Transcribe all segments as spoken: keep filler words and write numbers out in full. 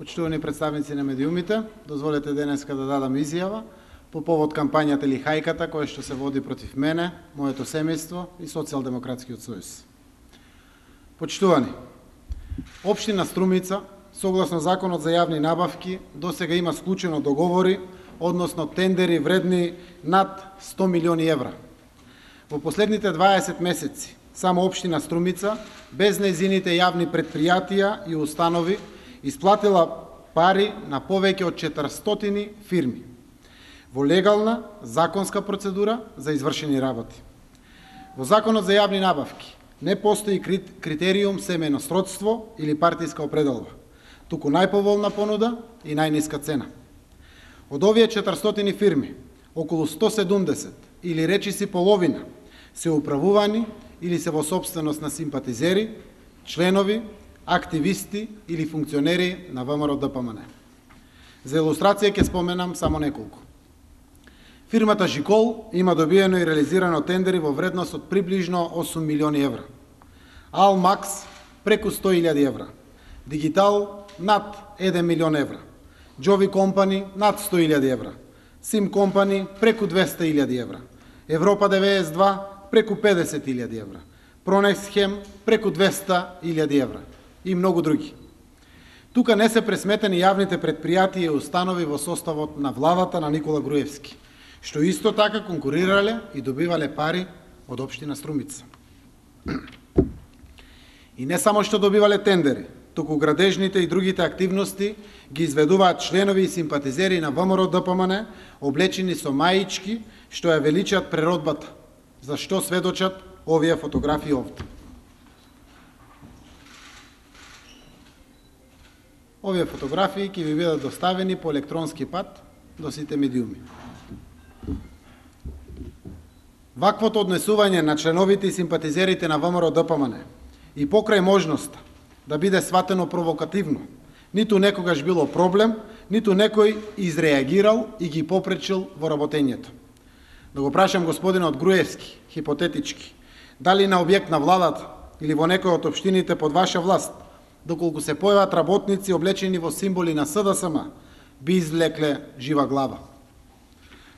Почитувани представници на медиумите, дозволете денеска да дадам изјава по повод кампањата или хајката која што се води против мене, моето семејство и Социјалдемократскиот сојуз. Почитувани, Општина Струмица, согласно Законот за јавни набавки, досега има склучено договори, односно тендери вредни над сто милиони евра. Во последните дваесет месеци, само Општина Струмица, без нејзините јавни предпријатија и установи, исплатила пари на повеќе од четиристотини фирми во легална, законска процедура за извршени работи. Во Законот за јавни набавки не постои критериум семејно сродство или партиска определба, туку најповолна понуда и најниска цена. Од овие четиристотини фирми, околу сто седумдесет или речиси половина се управувани или се во сопственост на симпатизери, членови, активисти или функционери на ВМРО Д П М Н. За илустрација ќе споменам само неколку. Фирмата Жикол има добиено и реализирано тендери во вредност од приближно осум милиони евра. Алмакс преку сто илјади евра. Дигитал над еден милион евра. Джови Компани над сто илјади евра. Сим Компани преку двесте илјади евра. Европа девеесет и два преку педесет илјади евра. Пронексхем преку двесте илјади евра. И многу други. Тука не се пресметени јавните предпријатија и установи во составот на владата на Никола Груевски, што исто така конкурирале и добивале пари од Општина Струмица. И не само што добивале тендери, туку градежните и другите активности ги изведуваат членови и симпатизери на ВМРО Д П М Н, облечени со маички, што ја величат преродбата, за што сведочат овие фотографии овде. Овие фотографии ќе ви бидат доставени по електронски пат до сите медиуми. Ваквото однесување на членовите и симпатизерите на ВМРО Д П М Н и покрај можноста да биде сватено провокативно, ниту некогаш било проблем, ниту некој изреагирал и ги попречил во работењето. Да го прашам господинот Груевски, хипотетички, дали на објект на владата или во некој од општините под ваша власт, доколку се појават работници облечени во символи на С Д С М, би извлекле жива глава.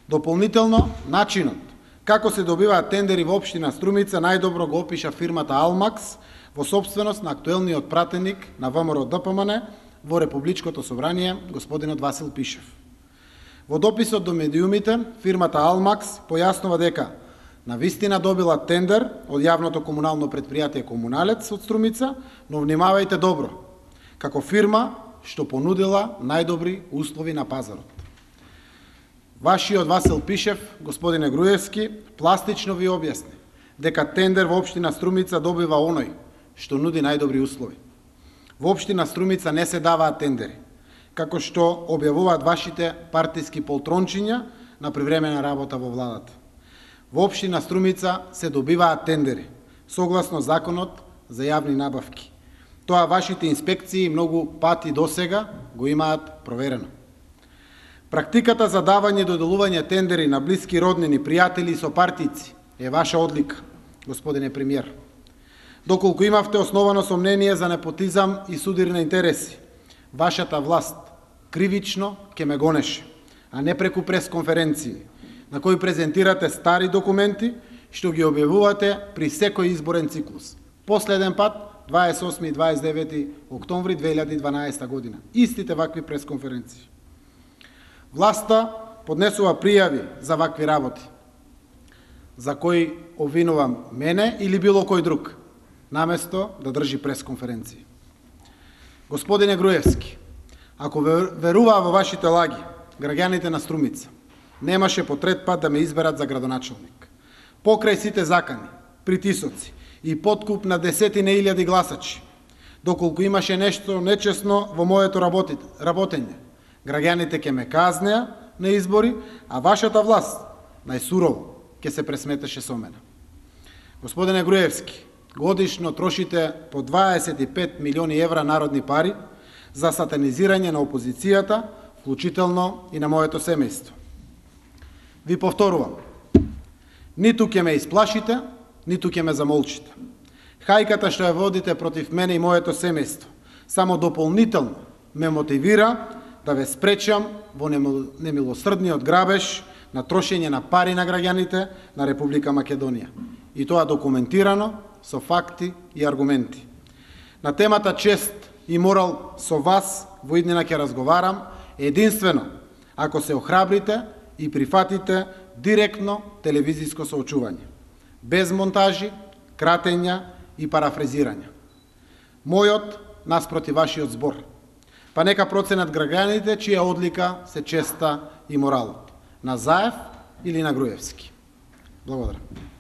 Дополнително, начинот како се добиваат тендери во Општина Струмица најдобро го опиша фирмата Алмакс во собственост на актуелниот пратеник на ВМРО Д П М Н во Републичкото собрание, господинот Васил Пишев. Во дописот до медиумите, фирмата Алмакс појаснува дека навистина добила тендер од јавното комунално предпријатие Комуналец од Струмица, но внимавајте добро, како фирма што понудила најдобри услови на пазарот. Вашиот Васил Пишев, господине Груевски, пластично ви објасни дека тендер во Општина Струмица добива оној што нуди најдобри услови. Во Општина Струмица не се даваат тендери, како што објавуваат вашите партиски полтрончиња на привремена работа во владата. Во Општина Струмица се добиваат тендери, согласно Законот за јавни набавки. Тоа вашите инспекции многу пати досега го имаат проверено. Практиката за давање и доделување тендери на блиски роднини, пријатели и сопартици е ваша одлика, господине премиер. Доколку имавте основано сомнение за непотизам и судир на интереси, вашата власт кривично ќе ме гонеше, а не преку пресконференции, на кои презентирате стари документи, што ги објавувате при секој изборен циклус. Последен пат, дваесет и осми и дваесет и девети октомври две илјади и дванаесета година. Истите вакви пресконференции. Власта поднесува пријави за вакви работи, за кои обвинувам мене или било кој друг, наместо да држи пресконференции. Господине Груевски, ако веруваа во вашите лаги, граѓаните на Струмица немаше по трет пат да ме изберат за градоначалник. Покрај сите закани, притисоци и подкуп на десетина илјади гласачи, доколку имаше нешто нечесно во моето работење, граѓаните ќе ме казнеа на избори, а вашата власт најсурово ќе се пресметеше со мене. Господине Груевски, годишно трошите по дваесет и пет милиони евра народни пари за сатанизирање на опозицијата, вклучително и на моето семејство. Ви повторувам, ниту ќе ме исплашите, ниту ќе ме замолчите. Хајката што ја водите против мене и моето семејство само дополнително ме мотивира да ве спречам во немилосрдниот грабеж на трошење на пари на граѓаните на Република Македонија. И тоа документирано со факти и аргументи. На темата чест и морал со вас во иднина ќе разговарам единствено ако се охрабрите и прифатите директно телевизиско соочување, без монтажи, кратења и парафрезирања. Мојот наспроти вашиот збор. Па нека проценат граѓаните чија одлика се честа и моралот. На Заев или на Груевски. Благодарам.